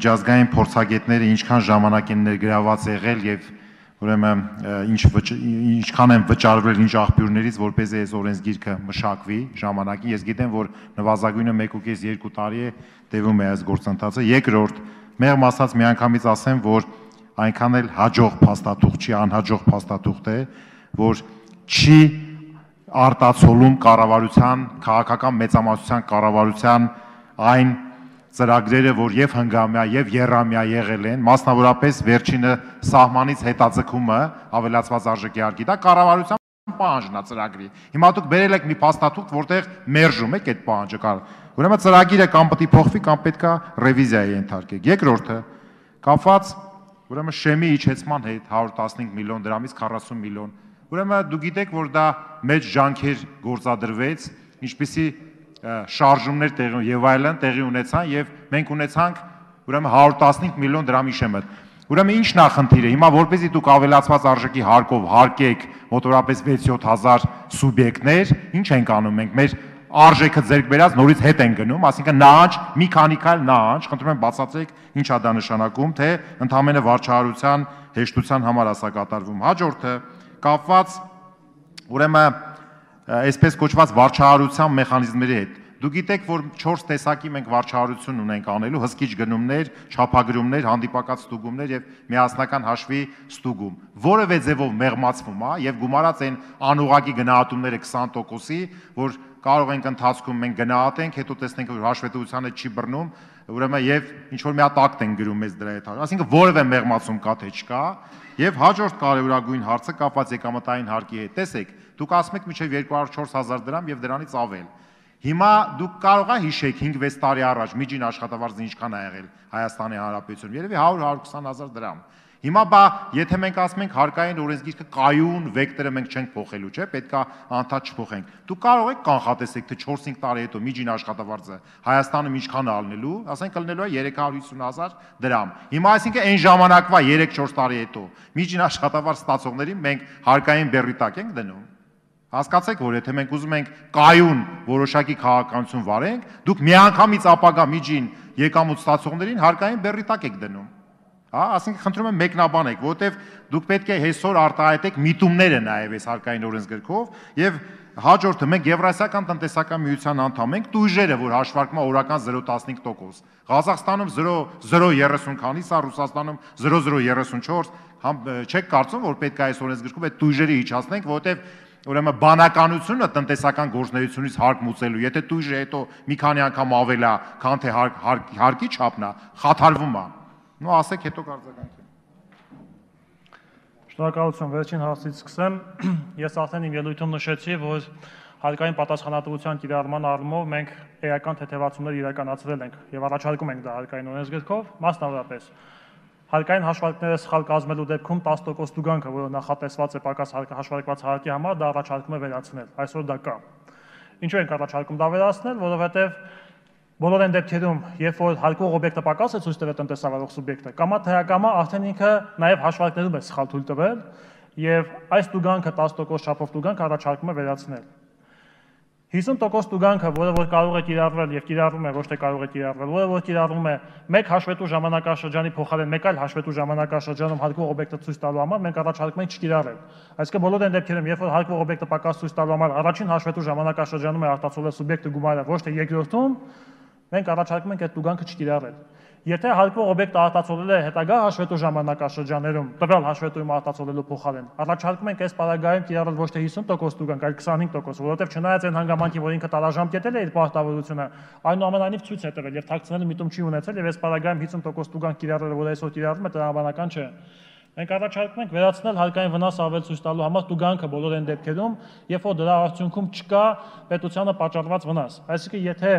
Միջազգային փորձագետները ինչքան ժամանակ են ներգրաված եղել եւ ուրեմն ինչքան են վճարվել ինչ աղբյուրներից, որպեսզի այս օրենսգիրքը մշակվի ժամանակին։ Ես գիտեմ, որ նվազագույնը 1.5-2 տարի է տևում է այս գործընթացը։ Երկրորդ, մեղմ ասած միանգամից ասեմ, որ այնքան էլ հաջող փաստաթուղթ չի, անհաջող փաստաթուղթ է, որ չի արտացոլում կառավարության, քաղաքական մեծամասնության կառավարության այն ծրագրերը, որ եւ հնգամյա եւ եռամյա եղել են, մասնավորապես վերջինը սահմանից հետաձգումը ավելացված արժեքի հարկի, դա կառավարության պահանջն է ծրագրի։ Հիմա դուք բերել եք մի փաստաթուղթ, որտեղ մերժում եք այդ պահանջը։ Ուրեմն ծրագիրը կամ պետք է փոխվի, կամ պետք է ռևիզիայի ենթարկեք։ Երկրորդը կապված ուրեմն շեմի իջեցման հետ 115 միլիոն դրամից 40 միլիոն։ Ուրեմն դուք գիտեք, որ դա մեծ ջանքեր գործադրվեց, ինչպիսի շարժումներ եւ այլն տեղի ունեցան եւ մենք ունեցանք ուրեմն 115 միլիոն դրամի շեմը։ Ուրեմն ի՞նչն է խնդիրը։ Հիմա որպեսզի դուք ավելացված արժեքի հարկով հարկեք մոտորապես 6-7 հազար սուբյեկտներ, ինչ ենք անում մենք։ Մեր արժեքը ձեռք բերած նորից հետ են գնում, այսինքն նահանջ, մի քանի քայլ նահանջ, խնդրում եմ բացատրեք ինչ է դա նշանակում, թե ընդհանրապես վարչահարության հեշտության համար է սա կատարվում։ Հաջորդը կապված ուրեմն այսպես կոչված վարչահարության մեխանիզմների հետ։ Դուք գիտեք, որ 4 տեսակի մենք վարչահարություն ունենք անելու՝ հսկիչ գնումներ, չափագրումներ, հանդիպակաց ստուգումներ եւ միասնական հաշվի ստուգում։ Որևէ ձևով մեղմացվում է եւ գումարած են անուղղակի գնահատումները 20%-ի, որ կարող ենք ընթացքում մենք գնահատենք, հետո տեսնենք, որ հաշվետվությանը չի բռնում, ուրեմն եւ ինչ որ մի հատ ակտ են գրում մեզ դրա հետ։ Այսինքն որևէ մեղմացում կա թե չկա։ Եվ հաջորդ կարևորագույն հարցը կապված եկամտային հարկի հետ։ Տեսեք, դուք ասում եք մինչև 204,000 դրամ եւ դրանից ավել։ Հիմա դուք կարող եք հիշեք 5-6 տարի առաջ միջին աշխատավարձը ինչքան ա եղել Հայաստանի Հանրապետությունում, երևի 100-120,000 դրամ։ Հիմա բա եթե մենք ասում ենք հարկային օրենսգիրքը կայուն վեկտորը մենք չենք փոխելու, չէ՞, պետքա անդադ չփոխենք։ Դուք կարող եք կանխատեսեք, թե 4-5 տարի հետո միջին աշխատավարձը Հայաստանում ինչքան է ալնելու, ասենք ալնելու է 350,000 դրամ։ Հիմա այսինքն այն ժամանակվա 3-4 տարի հետո միջին աշխատավարձ ստացողներին մենք հարկային բեռի տակ ենք դնում։ Հասկացեք, որ եթե մենք ուզում ենք կայուն որոշակի քաղաքականություն վարենք, դուք միանգամից ապագա միջին եկամուտ ստացողներին հարկային բեռի տակ եք դնում։ Հա, ասենք խնդրում եմ մեկնաբանեք, որովհետև դուք պետք է այսօր արտահայտեք միտումները նաև այս հարկային օրենսգրքով եւ հաջորդը մենք Եվրասիական տնտեսական միության անդամ ենք, տույժերը, որ հաշվարկվում է օրական 0.15%։ Ղազախստանում 0.30 քանից է, Ռուսաստանում 0.34, չեք կարծում, որ պետք է այս օրենսգրքով այդ տույժերը իջացնենք, որովհետև ուրեմն բանականությունը տնտեսական գործունեությունից հարկ մուծելու, եթե տույժը հետո մի քանի անգամ ավել է, քան թե հարկի չափն է, խաթարվում է։ Նո ասեք հետո կարձականքին։ Շնորհակալություն, վերջին հարցից սկսեմ։ Ես արդեն իմ ելույթում նշեցի, որ հարկային պատասխանատվության կիրառման առումով մենք էական թեթևացումներ իրականացրել ենք եւ առաջարկում ենք դա հարկային օրենսգրքով, մասնավորապես հարկային հաշվարկները սխալ կազմելու դեպքում 10% տուգանքը, որը նախատեսված է պակաս հաշվարկված հարկի համար, դա առաջարկում է վերացնել։ Այսօր դա կա։ Ինչու ենք առաջարկում դա վերացնել, որովհետեւ բոլոր այն դեպքերում, երբ որ հարկող օբյեկտը պակաս է ցույց տվել տնտեսավարող սուբյեկտը, կամա թե ակամա արդեն ինքը նաև հաշվարկներում է սխալ թույլ տվել եւ այս տուգանքը 10% չափով տուգանք առաջարկում է վերացնել։ 50% տուգանքը, որը որ կարող է կիրառվել եւ կիրառվում է, ոչ թե կարող է կիրառվել, որը որ կիրառվում է մեկ հաշվետու ժամանակաշրջանի փոխարեն մեկ այլ հաշվետու ժամանակաշրջանում հարկող օբյեկտը ցույց տալու համար մենք առաջարկում ենք չկիրառել։ Այսինքն բոլոր այն դեպքերում, երբ որ հարկող օբյեկտը պակաս ցույց տալու համար առաջին հաշվետու ժամանակաշրջանում է արտացոլել սուբյեկտը գումարը, ոչ թե երկրորդում, մենք առաջարկում ենք այդ տուգանքը չկիրառել։ Եթե հարկվող օբյեկտը արտացոլել է հետագա հաշվետու ժամանակաշրջաներում, տվյալ հաշվետույում արտացոլելու փոխարեն, առաջարկում ենք այս պարագայում կիրառել ոչ թե 50% տուգանք, այլ 25%, որովհետև չնայած այն հանգամանքին, որ ինքը տարաժամկետել է իր պարտավորությունը, այնուամենայնիվ ցույց է տվել եւ թաքցնելու միտում չի ունեցել եւ այս պարագայում 50% տուգանք կիրառելը, որ այսօր կիրառվում է, տրամաբանական չէ։ Մենք առաջարկում ենք վերացնել հարկային վնաս ավել ցույց տալու համար տուգանքը բոլոր այն դեպքերում, երբ որ դրա արդյունքում չկա պետությանը պատճառված վնաս։ Այսինքն եթե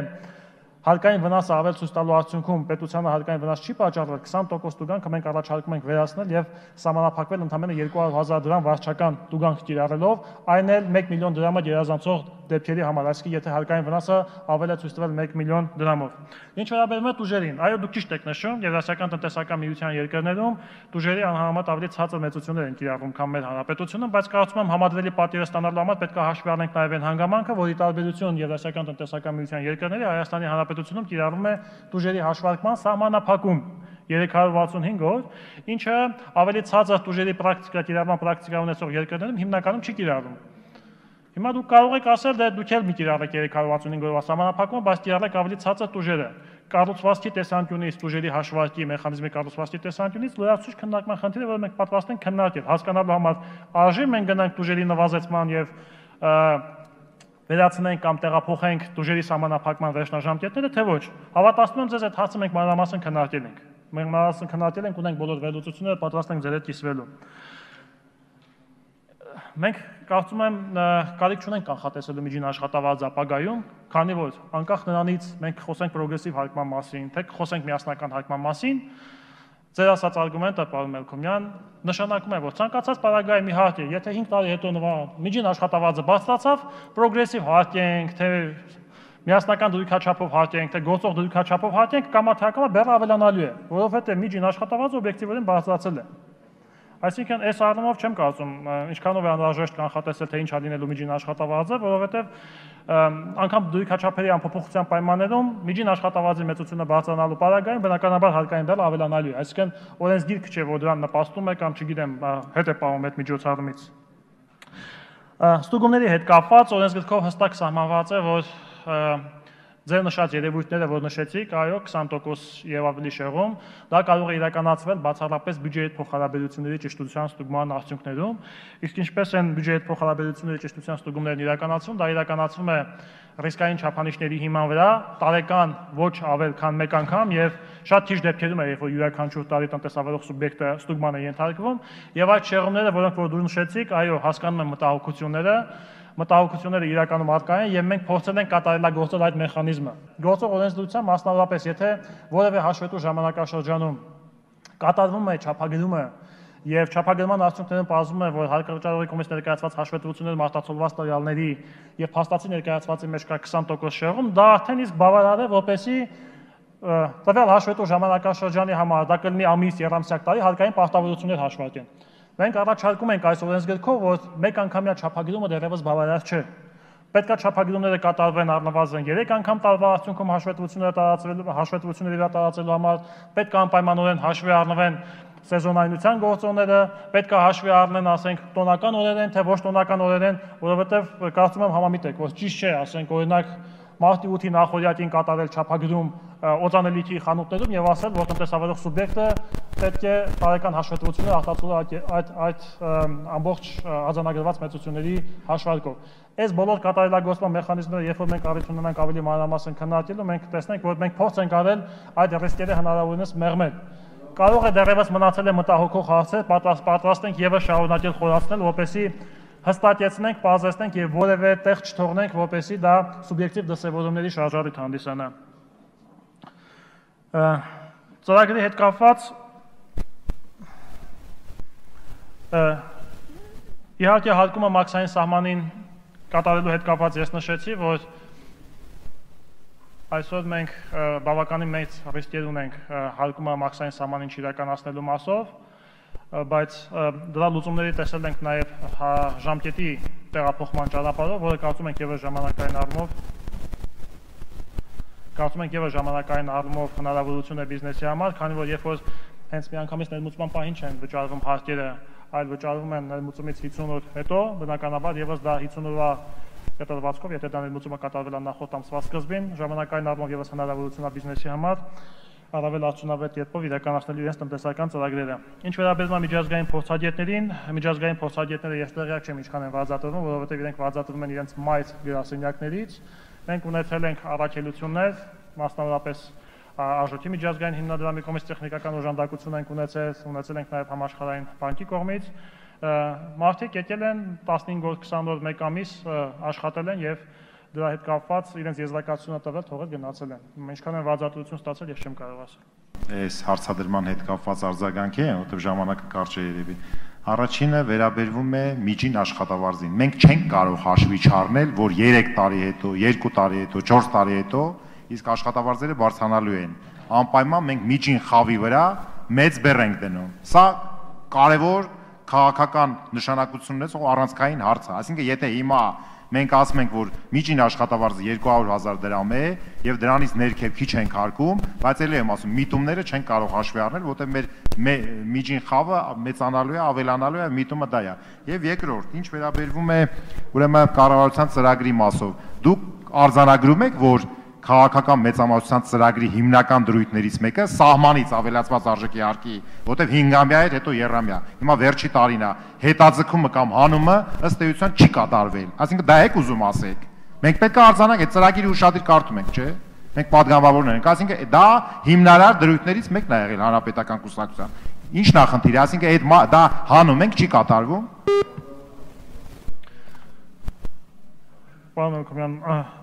հարկային վնասը ավել ցույց տալու արդյունքում պետությանը հարկային վնաս չի պատճառվել, 20% տուգանքը մենք առաջարկում ենք վերացնել եւ սահմանափակվել ընդամենը 200,000 դրամ վարչական տուգանք կիրառելով, այն էլ 1 միլիոն դրամը գերազանցող դեպքերի համար, այսինքն եթե հարկային վնասը ավել է ցույց տվել 1 միլիոն դրամով։ Ինչ վերաբերում է տուժերին, այո, դուք ճիշտ եք նշում, Եվրասիական տնտեսական միության երկրներում տուժերի անհամեմատ ավելի ցածր մեծություններ են կիրառվում, քան մեր հանրապետությունում, բայց կարծում եմ համադրելի պատիվը ստանալու համար պետք է հաշվի առնենք նաեւ այն հանգամանքը, որ ի տարբերություն Եվրասիական տնտեսական միության երկրների Հայաստանի Հանրապետությունում կիրառվում է տուժերի հաշվարկման սահմանափակում։ 365 օր, ինչը ավելի ցածր տուժերի պրակտիկա, կիրառման պրակտիկա ունեցող երկրներում հիմնականում չի կիրառվում։ Հիմա դուք կարող եք ասել, դե դուք էլ մի կիրառեք 365 օրվա սահմանափակումը, բայց կիրառեք ավելի ցածր տուժերը։ Կառուցվածքի տեսանկյունից, տուժերի հաշվարկի մեխանիզմի կառուցվածքի տեսանկյունից լրացուցիչ քննարկման խնդիրը, որը մենք պատրաստ ենք քննարկել, հասկանալու համար արժի մենք գնանք տուժերի նվազեցման եւ վերացնենք կամ տեղափոխենք տուժերի սահմանափակման վերջնաժամկետները, թե ոչ։ Հավատացնում եմ ձեզ, այդ հարցը մենք մանրամասն քննարկել ենք։ Մենք մանրամասն քննարկել ենք, ունենք բոլոր վերլուծությունները, պատրաստ ենք ձեր հետ կիսվելու։ Մենք կարծում եմ կարիք չունենք կանխատեսելու միջին աշխատավարձ ապագայում, քանի որ անկախ նրանից մենք խոսենք պրոգրեսիվ հարկման մասին, թե խոսենք միասնական հարկման մասին, ձեր ասած արգումենտը, պարոն Մելքոմյան, նշանակում է, որ ցանկացած պարագայում իհարկե, եթե 5 տարի հետո միջին աշխատավարձը բարձրացավ, պրոգրեսիվ հարկենք, թե միասնական դրույքաչափով հարկենք, թե գործող դրույքաչափով հարկենք, կամա բեռը ավելանալու է, որովհետև միջին աշխատավարձը օբյեկտիվորեն բարձրացել է։ Այսինքն, այս առումով չեմ կարծում, ինչքանով է անհրաժեշտ կանխատեսել, թե ինչ է լինելու միջին աշխատավարձը, որովհետև անգամ դրույքաչափերի անփոփոխության պայմաններում միջին աշխատավարձի մեծությունը բարձրանալու պարագայում բնականաբար հարկային բեռը ավելանալու է։ Այսինքն, օրենսգիրքը չէ, որ դրան նպաստում է կամ չգիտեմ, հետ է պահում այդ միջոցառումից։ Ստուգումների հետ կապված օրենսգրքով հստակ սահմանված է, որ ձեր նշած երևույթները, որ նշեցիք, այո, 20% եւ ավելի շեղում, դա կարող է իրականացվել բացառապես բյուջեի հետ փոխհարաբերությունների ճշտության ստուգման արդյունքներում, իսկ ինչպես են բյուջեի հետ փոխհարաբերությունների ճշտության ստուգումներն իրականացվում, դա իրականացվում է ռիսկային չափանիշների հիման վրա, տարեկան ոչ ավել քան մեկ անգամ եւ շատ քիչ դեպքերում է, երբ որ յուրաքանչյուր տարի տնտեսավարող սուբյեկտը ստուգման է ենթարկվում, եւ այդ շեղումները, որոնք որ դուք նշեցիք, այո, հասկանում եմ մտահոգությունները իրականում առկա են եւ մենք փորձել ենք կատարելագործել այդ մեխանիզմը։ Գործող օրենսդրությամբ մասնավորապես, եթե որևէ հաշվետու ժամանակաշրջանում կատարվում է չափագրումը եւ չափագրման արդյունքներում պարզվում է, որ հարկավճարողի կողմից ներկայացված հաշվետվությունները մարտացոլված տվյալների եւ փաստացի ներկայացվածի մեջ կա 20% շեղում, դա արդեն իսկ բավարար է, որպեսզի տվյալ հաշվետու ժամանակաշրջանի համար դա կլինի ամիս, երամսյակ տարի հարկային պարտավորություններ հաշվարկեն։ Մենք առաջարկում ենք այս օրենսգրքով, որ մեկ անգամյա չափագրումը դեռևս բավարար չէ։ Պետք է չափագրումները կատարվեն առնվազն 3 անգամ տարվա արդյունքում հաշվետվությունների տարածելու համար, պետք է անպայմանորեն հաշվի առնվեն սեզոնայնության գործոնները, պետք է հաշվի առնեն, ասենք, տոնական օրեր են, թե ոչ տոնական օրեր են, որովհետև կարծում եմ համամիտ եք, որ ճիշտ չէ, ասենք, օրինակ մարտի 8-ի նախօրյակին կատարել չափագրում օծանելիքի խանութներում եւ ասել, որ տնտեսավարող սուբյեկտը պետք է տարեկան հաշվետվություններ արտացոլել այդ ամբողջ արձանագրված մեծությունների հաշվարկով։ Այս բոլոր կատարելագործման մեխանիզմները, երբ որ մենք առիթ ունենանք ավելի մանրամասն քննարկելու, մենք տեսնենք, որ մենք փորձ ենք արել այդ ռիսկերը հնարավորինս մեղմել։ Կարող է դեռևս մնացել է մտահոգող հարցեր, պատրաստ ենք եւս շարունակել խորացնել, որպեսզի հստակեցնենք, պարզեցնենք եւ որևէ տեղ չթողնենք, որպեսզի դա սուբյեկտիվ դրսևորումների շարժառիթ հանդիսանա։ Ծրագրի հետ կապված իհարկե հարկումը մաքսային սահմանին կատարելու հետ կապված ես նշեցի, որ այսօր մենք բավականին մեծ ռիսկեր ունենք հարկումը մաքսային սահմանին չիրականացնելու մասով, բայց դրա լուծումների տեսել ենք նաև ժամկետի տեղափոխման ճանապարհով, որը կարծում ենք եւս ժամանակային առումով հնարավորություն է բիզնեսի համար, քանի որ երբ որ հենց միանգամից ներմուծման պահին չեն վճարվում հարկերը, այլ վճարվում են ներմուծումից 50 օր հետո, բնականաբար եւս դա 50 օրվա կտրվածքով, եթե դա ներմուծումը կատարվել է նախորդ ամսվա սկզբին, ժամանակային առումով եւս հնարավորություն է բիզնեսի համար առավել արդյունավետ կերպով իրականացնել իրենց տնտեսական ծրագրերը։ Ինչ վերաբերում է միջազգային փորձագետներին, միջազգային փորձագետները ես տեղյակ չեմ ինչքան են վարձատրվում, որովհետև իրենք վարձատրվում են իրենց մայր գրասենյակներից։ Մենք ունեցել ենք առաքելություններ, մասնավորապես Արժույթի միջազգային հիմնադրամի կողմից տեխնիկական օժանդակություն ենք ունեցել ենք նաև համաշխարհային բանկի կողմից։ Մարդիկ եկել են 15 օր, 20 օր, 1 ամիս աշխատել են եւ դրա հետ կապված իրենց եզրակացությունը տվել, թողել գնացել են։ Ինչքան են վարձատրություն ստացել, ես չեմ կարող ասել։ Այս հարցադրման հետ կապված արձագանքի է, որտեղ ժամանակը կարճ է երևի։ Առաջինը վերաբերվում է միջին աշխատավարձին։ Մենք չենք կարող հաշվի չառնել, որ 3 տարի հետո, 2 տարի հետո, 4 տարի հետո իսկ աշխատավարձերը բարձրանալու են։ Անպայման մենք միջին խավի վրա մեծ բեռ ենք դնում։ Սա կարևոր քաղաքական նշանակություն ունեցող առանցքային հարց է։ Այսինքն, եթե հիմա մենք ասում ենք, որ միջին աշխատավարձը 200,000 դրամ է եւ դրանից ներքև քիչ ենք հարկում, բայց ելի եմ ասում, միտումները չեն կարող հաշվի առնել, որտեղ մեր միջին խավը մեծանալու է, ավելանալու է, միտումը դա է։ Եվ երկրորդ, ինչ վերաբերվում է ուրեմն կառավարության ծրագրի մասով, դուք արձանագրում եք, որ քաղաքական մեծամասնության ծրագրի հիմնական դրույթներից մեկը սահմանից ավելացված արժեքի հարկի, որտեղ 5-ամյա էր, հետո երամյա։ Հիմա վերջի տարին է հետաձգումը կամ հանումը ըստ էության չի կատարվել։ Այսինքն դա եք ուզում ասեք։ Մենք պետք է արձանանք, այդ ծրագիրը ուշադիր կարդում ենք, չէ՞։ Մենք պատգամավորներ ենք, այսինքն դա հիմնարար դրույթներից մեկն է եղել հանրապետական կուսակցության։ Ինչ նախնդիր է, այսինքն այդ դա հանում ենք, չի կատարվում։ Պարոն Հակոբյան,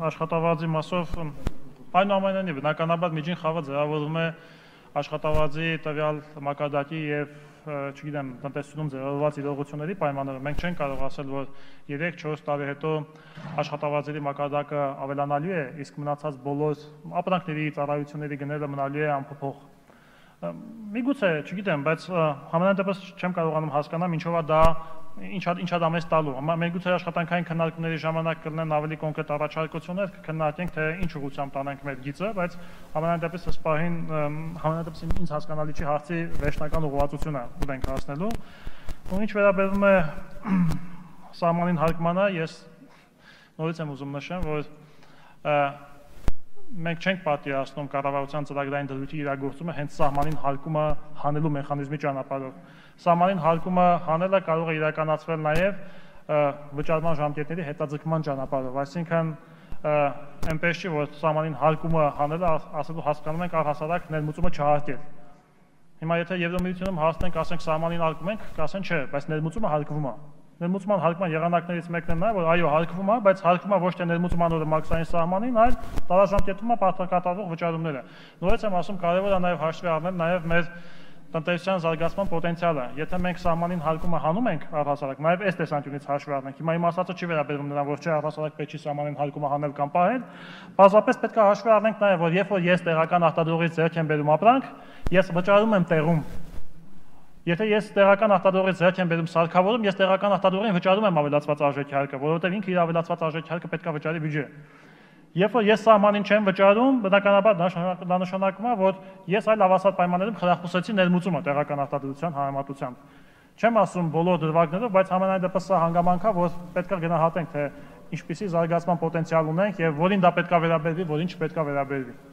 աշխատավարձի մասով այնուամենայնիվ բնականաբար միջին խավը ձևավորվում է աշխատավարձի տվյալ մակարդակի եւ չգիտեմ տնտեսությունում ձևավորված իրողությունների պայմաններով։ Մենք չենք կարող ասել, որ 3-4 տարի հետո աշխատավարձերի մակարդակը ավելանալու է, իսկ մնացած բոլոր ապրանքների, ծառայությունների գները մնալու է անփոփոխ։ Միգուցե, չգիտեմ, բայց համենայն դեպս չեմ կարողանում հասկանալ ինչով է դա ինչա դա մեզ տալու։ Մենք գուցե աշխատանքային քննարկումների ժամանակ կլինեն ավելի կոնկրետ առաջարկություններ, կքննարկենք թե ինչ ուղղությամբ տանենք մեր գիծը, բայց համենայն դեպս ըստ պահին համենայն դեպս ինձ հասկանալի չի հարցի վերջնական ուղղվածությունը ուր ենք հասնելու։ Ու ինչ վերաբերում է սահմանին հարկմանը, ես նորից եմ ուզում նշեմ, որ մենք չենք պատկերացնում կառավարության ծրագրային դրույթի իրագործումը հենց սահմանին հարկումը հանելու մեխանիզմի ճանապարհով։ Սահմանին հարկումը հանելը կարող է իրականացվել նաև վճարման ժամկետների հետաձգման ճանապարհով, այսինքն այնպես չի, որ սահմանին հարկումը հանելը ասելու հասկանում ենք առհասարակ ներմուծումը չհարկել։ Հիմա եթե Եվրոմիությունում հասնենք, ասենք սահմանին հարկում ենք, կասեն չէ, բայց ներմուծումը հարկվում է։ Ներմուծման հարկման եղանակներից մեկն է նա, որ այո, հարկվում է, բայց հարկվում է ոչ թե ներմուծման օրը մաքսային սահմանին, այլ տարաժամկետում է կատարվող վճարումները։ Նորից եմ ասում, կարևոր է նաև հաշվի առնել նաև մեր տնտեսության զարգացման պոտենցիալը։ Եթե մենք սահմանին հարկումը հանում ենք առհասարակ, նաև այս տեսանկյունից հաշվի առնենք։ Հիմա իմ ասածը չի վերաբերում նրան, որ չէ առհասարակ պետք չի սահմանին հարկումը հանել կամ պահել, բազապես պետք է հաշվի առնենք նաև, որ երբ որ ես տեղական արտադրողից ձեռք եմ բերում ապրանք, ես վճարում եմ տեղում։ Եթե ես տեղական արտադրողից ձեռք եմ բերում սարքավորում, ես տեղական արտադրողին վճարում եմ ավելացված արժեքի հարկը, որովհետև ինքը իր ավելացված արժեքի հարկը պետք է վճարի բյուջե։ Երբ որ ես սահմանին չեմ վճարում, բնականաբար դա նշանակում է, որ ես այլ հավասար պայմաններում խրախուսեցի ներմուծումը տեղական արտադրության համեմատությամբ։ Չեմ ասում բոլոր դրվագներով, բայց համենայն դեպս սա հանգամանք է, որ պետք է գնահատենք, թե ինչպիսի զարգացման պոտենցիալ ունենք եւ որին դա պետք է վերաբերվի, որին չպետք է վերաբերվի։